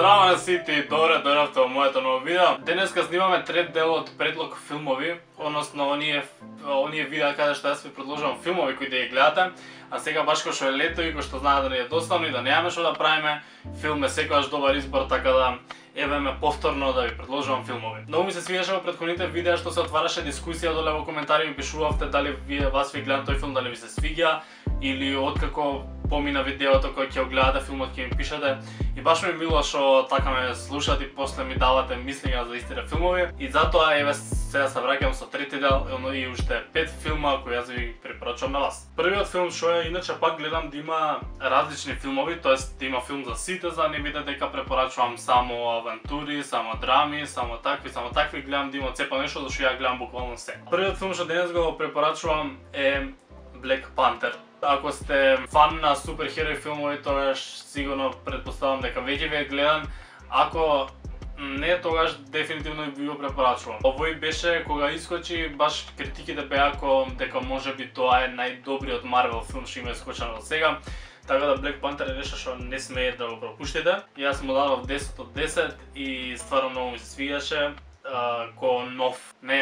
Здраво на сите, добре дојдовте во моето ново видео. Денеска снимаме трет дел од предлог филмови, односно оние видеа каде што јас ви предложувам филмови кои да ги гледате. А сега баш кој што е лето и кој што знае да не е доставно и да немаме што да правиме, филм е секогаш добар избор, така да еве ме повторно да ви предложувам филмови. Многу ми се свиеше во претходните видеа што се отвараше дискусија доле во коментари, ми пишувавте дали вас ви гледам тој филм, дали ви се свиѓа или откако помина видеото кој ќе го гледате филмот ќе ми пишете. И баш ми мило што така ме слушате и после ми давате мислења за истите филмови. И затоа еве сега се враќам со трети дел и уште 5 филма кои јас ви препорачувам на вас. Првиот филм што е, иначе пак гледам да има различни филмови, тоест да има филм за сите, за да не биде дека препорачувам само авантури, само драми, само такви, гледам да има цепа нешто зашто ја гледам буквално се. Првиот филм што денес го препорачувам е Black Panther. Ако сте фан на суперхерои филмови, тогаш сигурно предпоставам дека веќе ви е гледан. Ако не, тогаш дефинитивно ви го препорачувам. Овој беше кога искочи, баш критиките беа дека можеби тоа е најдобриот Марвел филм што има искочен до сега. Така да Black Panther е нешто што не смеете да го пропуштите. Јас му дадов 10 од 10 и стварно многу ми се свиѓаше. Ко нов, не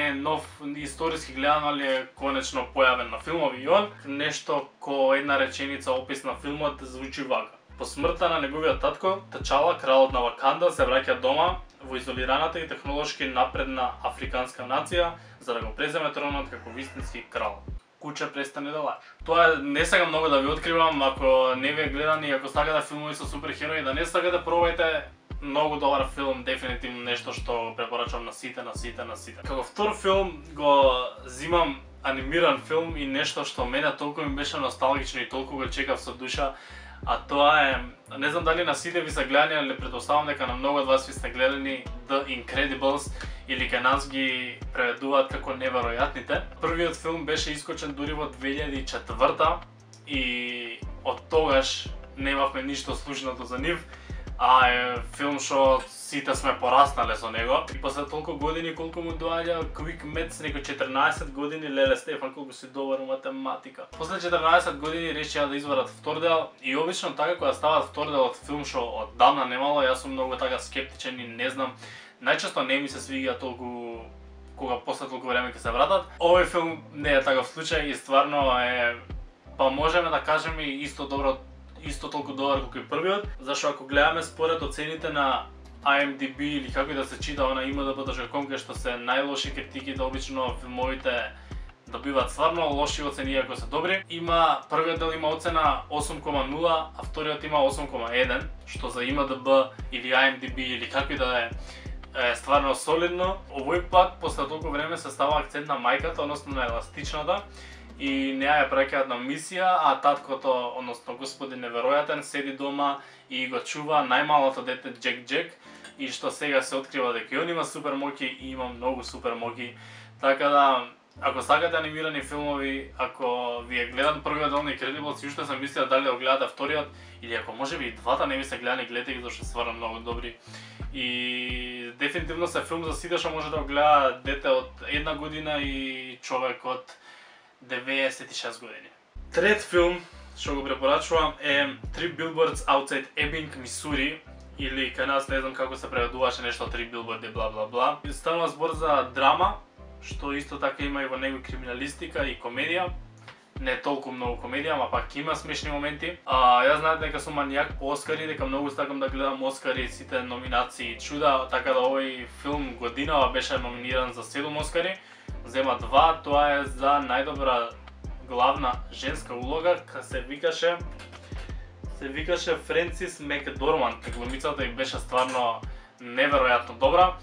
е нов историски гледан, али е конечно појавен на филмови и он. Нешто ко една реченица опис на филмот звучи вака. По смртта на неговиот татко, Тачала, кралот на Ваканда, се враќа дома во изолираната и технолошки напредна африканска нација за да го преземе тронот како вистински крал. Куче, престани да лажеш. Тоа не сакам многу да ви откривам, ако не ви е гледан и ако сакате филмови со суперхерои, да не сакате, пробајте. Многу добар филм, дефинитивно нешто што препорачувам на сите. Како втор филм го зимам анимиран филм и нешто што мене толку ми беше носталгично и толку го чекав со душа, а тоа е, не знам дали на сите ви се гледани, али претпоставам дека на многу од вас ви сте гледани The Incredibles или кај нас ги преведуваат како Неверојатните. Првиот филм беше искочен дури во 2004 и од тогаш немавме ништо слушнато за нив. А е филм што сите сме пораснале со него. И после толку години колку му доаѓа Quick Maths, некој 14 години, леле Стефан колку си добар во математика. После 14 години решија да извадат втор дел и обично така кога стават втор дел од филм што оддавна немало, јас сум многу така скептичен и не знам. Најчесто не ми се свиѓа толку кога после толку време ќе се вратат. Овој филм не е таков случај и стварно е, па можеме да кажеме исто толку добар колку и првиот, зашто ако гледаме според оцените на IMDb или како и да се чита на IMDb.com, кај што се најлоши критиките, обично филмовите добиваат стварно лоши оцени иако се добри. Првиот дел има оцена 8,0, а вториот има 8,1, што за IMDb или IMDb или како и да е стварно солидно. Овој пат после толку време се става акцент на мајката, односно на еластичната, и неа ја праќаат на мисија, а таткото, односно господин Неверојатен, седи дома и го чува најмалото дете Джек, и што сега се открива дека и он има супермоќи и има многу супермоќи. Така да, ако сакате анимирани филмови, ако ви е гледан првиот дел на Incredibles и уште се мислите дали да го гледате вториот, или ако можеби и двата не ви се гледани, гледате ги зашто стварно многу добри. И дефинитивно се филм за сите што може да го гледа дете од 1 година и човек од 96 години. Трет филм што го препорачувам е Three Billboards Outside Ebbing, Мисури, или кај нас не знам како се преведуваше нешто Три билборди бла бла бла. Станува збор за драма, што исто така има и во него криминалистика и комедија. Не толку многу комедија, ама пак има смешни моменти. Јас знаете дека сум манијак по Оскари, дека многу сакам да гледам Оскари, сите номинации и чуда, така да овој филм годинава беше номиниран за 7 Оскари. Зема 2, тоа е за најдобра главна женска улога, се викаше Френсис Макдорманд. Глумицата и беше стварно неверојатно добра.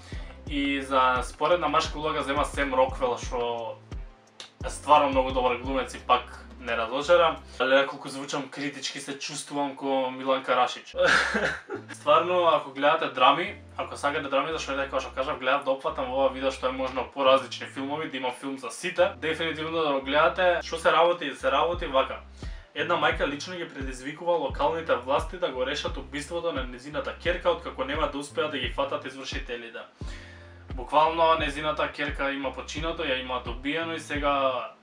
И за споредна машка улога зема Сем Роквел, што е стварно многу добар глумец и пак не разочара. Але колку звучам критички, се чувствувам ко Милан Карашич. Стварно, ако гледате драми, ако сакате драми, зашто е дека што кажав, гледав да опфатам во ова видео што е можно поразлични филмови, да има филм за сите. Дефинитивно да го гледате. Што се работи вака. Една мајка лично ги предизвикува локалните власти да го решат убиството на незината ќерка, откако нема да успеат да ги фатат извршителите. Буквално незината ќерка има починато, ја има добиено и сега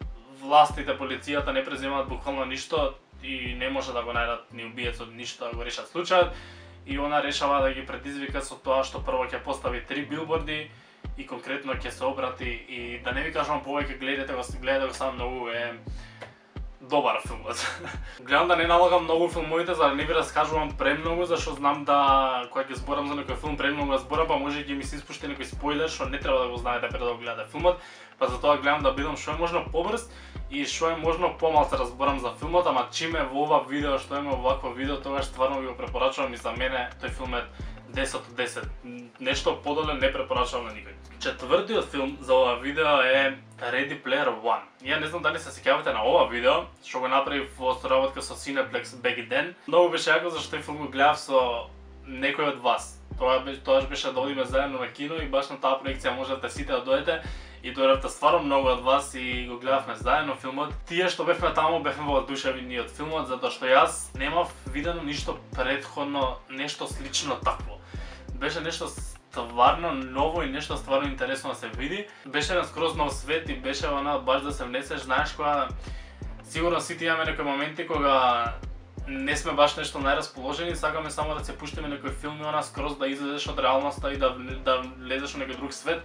властите, полицијата не преземаат буквално ништо и не може да го најдат ни убиецот, ништо да го решат случајот. и она решава да ги предизвика со тоа што прво ќе постави 3 билборди и конкретно ќе се обрати и да не ви кажам повеќе, гледате го сам, многу е добар филмот. Гледам да не налагам многу филмовите за да не ви раскажувам премногу, зашто знам да кога ќе зборам за некој филм премногу зборам, па може ќе ми се испушти некој спойлер што не треба да го знаете пред да го гледате филмот, па затоа гледам да бидам што е можно побрз и што е можно помалку разборам за филмот, ама чиме во ова видео што има овакво видео, тогаш стварно ви го препорачувам и за мене тој филм е 10 од 10. Нешто подоле не препорачувам на никој. Четвртиот филм за ова видео е Ready Player One. Ја не знам дали се сеќавате на ова видео, што го направив во соработка со Cineplex беги ден. Многу беше јако зашто тој филм го гледав со некој од вас. Тоа беше да одиме заедно на кино и баш на таа проекција можете сите да дојдете и дојдовте стварно многу од вас и го гледавме заедно филмот. Тие што бевме таму бевме воодушевени од филмот затоа што јас немав видено ништо претходно, нешто слично такво. Беше нешто стварно ново и нешто стварно интересно да се види. Беше на скроз нов свет и беше она баш да се внесеш, знаеш кога сигурно сите имаме некои моменти кога не сме баш нешто најрасположени, сакаме само да се пуштиме некој филм и она скроз да излезеш од реалноста и да влезеш во некој друг свет.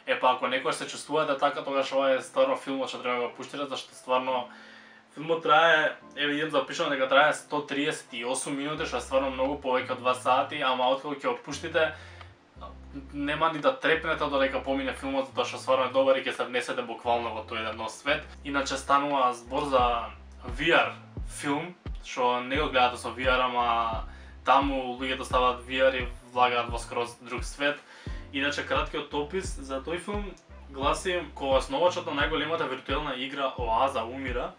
Епа ако некој се чувствувате така, тогаш ова е стварно филмот што треба да го пуштите, зашто стварно филмот трае, еве идем запишам дека трае 138 минути, што е стварно многу повеќе од 2 сати, ама откако ќе го пуштите нема ни да трепнете додека помине филмот, затоа што стварно е добар и ќе се внесете буквално во тој еден нов свет. Иначе станува збор за VR филм, што не го гледате со VR, ама таму луѓето ставаат VR и влагаат во скроз друг свет. Иначе краткиот опис за тој филм гласи: кога основачот на најголемата виртуелна игра Оаза умира,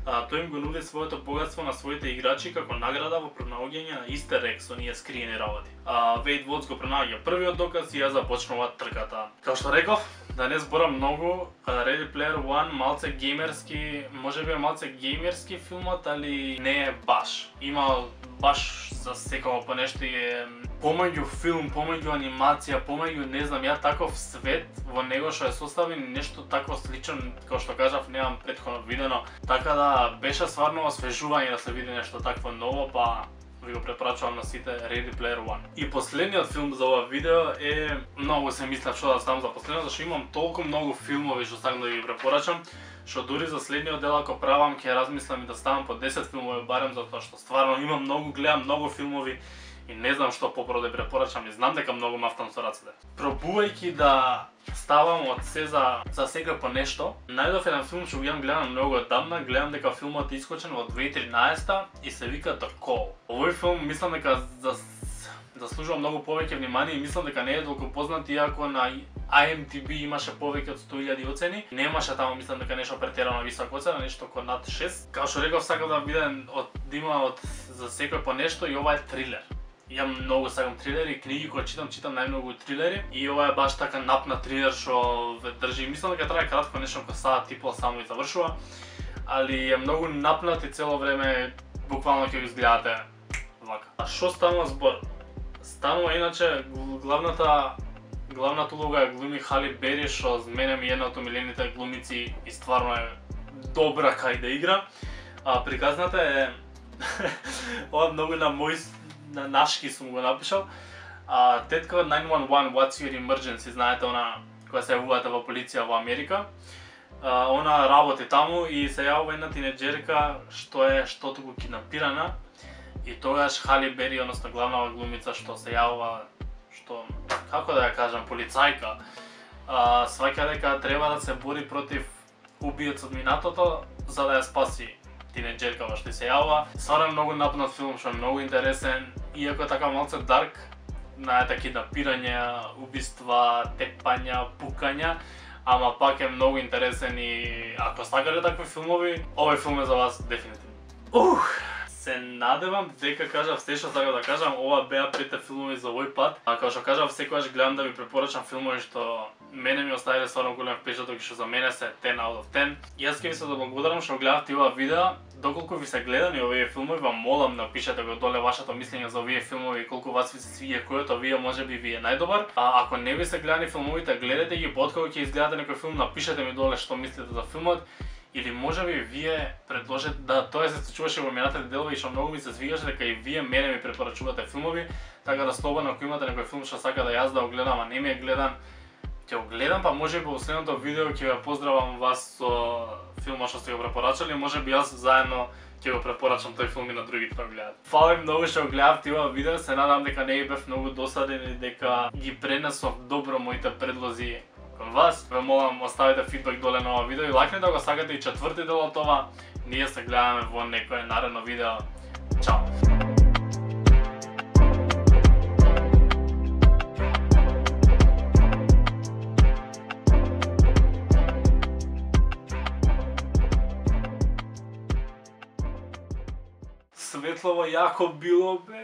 тој им го нуди своето богатство на своите играчи како награда во пронаоѓање на истер ек со ние скриени работи. Вейд Вотс го пронаоѓа првиот доказ и ја започнува трката. Како што реков, да не зборам многу, Ready Player One малце геймерски, можеби е малце геймерски филмот, али не е баш. Има баш за секој по нешто е помеѓу филм, помеѓу анимација, помеѓу не знам ја таков свет во него што е составен, нешто такво слично, како што кажав, немам претходно видено. Така да беше стварно освежување да се види нешто такво ново, па ви го препорачувам на сите Ready Player One. И последниот филм за ова видео е, многу се мислев што да ставам за последниот, зашто имам толку многу филмови што сакам да ви препорачам, што дури за следниот дел ако правам ќе размислам и да ставам по 10 филмови барем, затоа што стварно имам многу, гледам многу филмови и не знам што попро да препорачам и знам дека многу мафтам со рацете. Пробувајќи да ставам од се за секој по нешто, најдов еден филм што го имам гледан многу одамна, гледам дека филмот е искочен во 2013 и се вика The Call. Овој филм мислам дека заслужува многу повеќе внимание и мислам дека не е толку познат, иако на IMDb имаше повеќе од 100.000 оцени. Немаше таму, мислам дека нешто претерано висока оцена, нешто околу над 6. Како што реков, сакам да видам за секој по нешто и ова е трилер. Ја многу сакам трилери, книги кои читам најмногу трилери и ова е баш така напнат трилер што ве држи. Мислам дека трае кратко, нешто како саат и пол само и завршува, али е многу напнат и цело време буквално ќе го изгледате вака. А што станува збор? Станува иначе главната улога е глуми Хали Бери, што за мене ми е една од омилените глумици и стварно е добра кај да игра. Приказната е ова многу на нашки сум го напишал. Тетка од 911 What's Your Emergency, знаете она која се јавувате во полиција во Америка. Она работи таму и се јавува една тинеџерка што е штотуку киднапирана и тогаш Хали Бери, односно главната глумица што се јавува, што како да ја кажам, полицајка, сваќа дека треба да се бори против убиец од минатото за да ја спаси тинеџеркава што се јавува. Стварно многу напнат филм што е многу интересен, иако така малце дарк, знаете, киднапирање, убиства, тепања, пукања, ама пак е многу интересен и ако сакате такви филмови, овој филм е за вас дефинитивно. Се надевам дека кажав се што сакам да кажам, ова беа прите филмови за овој пат. Како што кажав, секогаш гледам да ви препорачам филмови што мене ми оставиле стварно голем впечаток и што за мене се 10 out of 10. Јас ќе ви се благодарам што гледавте ова видео. Доколку ви се гледани овие филмови, вам молам напишете го доле вашето мислење за овие филмови и колку вас ви се свиѓа кој од овие можеби ви е најдобар. Ако не ви се гледани филмовите, гледате ги, откако ќе изгледате некој филм, напишете ми доле што мислите за филмот. Или можеби вие предложете да тоа се случуваше во минатите делови и што многу ми се свигаше дека и вие мене ми препорачувате филмови, така да слободно ако имате некој филм што сака да јас да го гледам, а не ми е гледан, ќе го гледам, па можеби во следното видео ќе ве поздравам вас со филмот што сте го препорачали, можеби јас заедно ќе го препорачам тој филм и на другите да го гледат. Фала ви многу што го гледавте ова видео, се надам дека не ви бев многу досаден и дека ги пренесов добро моите предлози кон вас. Ве молам, оставите фидбек доле на ова видео и лакнете да го сакате и четврти дел од ова. Ние се гледаме во некое наредно видео. Чао! Светлово јако било, бе.